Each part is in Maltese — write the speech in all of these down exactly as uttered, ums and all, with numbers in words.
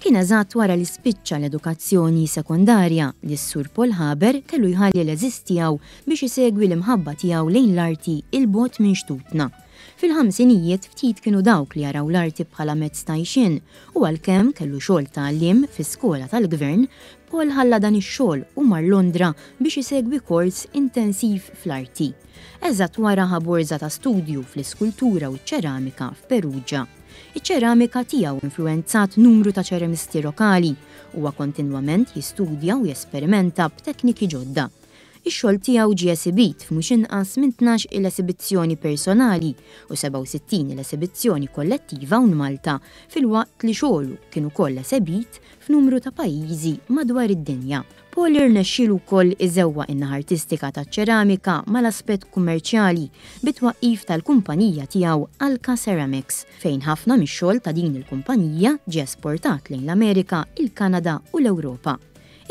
Kien eżatt wara li spiċċa l-edukazzjoni sekondarja li s-Sur Paul Haber kellu jħalli l-għeżież tiegħu biex isegwi l-imħabba tiegħu lejn l-arti 'il bogħod minn xtutna. Fil-ħamsinijiet ftit kienu dawk li jaraw l-arti bħala mezz ta' għajxien u għalkemm kellu xogħol ta' għalliem fi skola tal-gvern, Paul ħalla dan ix-xogħol u mar Londra biex isegwi kors intensiv fl-arti. Eżatt wara ħa borża ta' studju fl-iskultura u ċ-ċeramika f'Perugia. Iċ-ċeramika tiegħu influenzat numru ta' ċeramisti lokali. Huwa kontinwament jistudja u jesperimenta b'tekniki ġodda. Ix-xogħol tiegħu ġie esibit f'mhux inqas minn tnax il esibizzjoni personali u sebgħa u sittin il esibizzjoni kollettiva hawn Malta, filwaqt li xogħlu kien ukoll esebit f'numru ta' pajjiżi madwar id-dinja. Paul irnexxielu wkoll iżewwaq in-naħa artistika taċ-ċeramika mal-aspett kummerċjali bit-twaqqif tal-kumpanija tiegħu Alka Ceramics, fejn ħafna mix-xogħol ta' din il-kumpanija ġie esportat lejn l-Amerika, il-Kanada u l-Ewropa.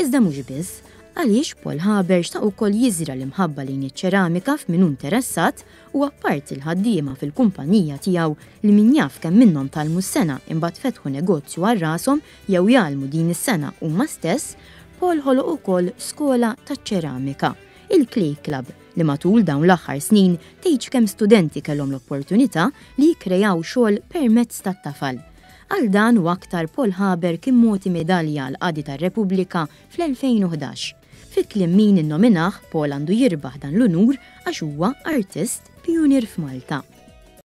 Iżda mhux biss, għaliex Paul Haber xtaq ukoll jiżra l-imħabba lejn iċ-ċeramika f'min hu interessat u apparti l-ħaddiema fil-kumpanija tiegħu, li min jaf kemm minnhom tgħallmu s-sengħa, imbagħad fetħu negozju għal rashom jew jgħallmu din is-sengħa huma stess, Paul ħoloq ukoll skola taċ-ċeramika, il-Clay Club, li matul dawn l-aħħar snin tgħidx kemm studenti kellhom l-opportunità li jikkrejaw xogħol permezz tat-tafal. Għal dan u aktar Paul Haber kien mogħti medalja għal qadi tar-Repubblika fl-elfejn u ħdax. Fi kliem min innominah, Paul għandu jirbaħ dan l-unur għax huwa artist pionier f'Malta.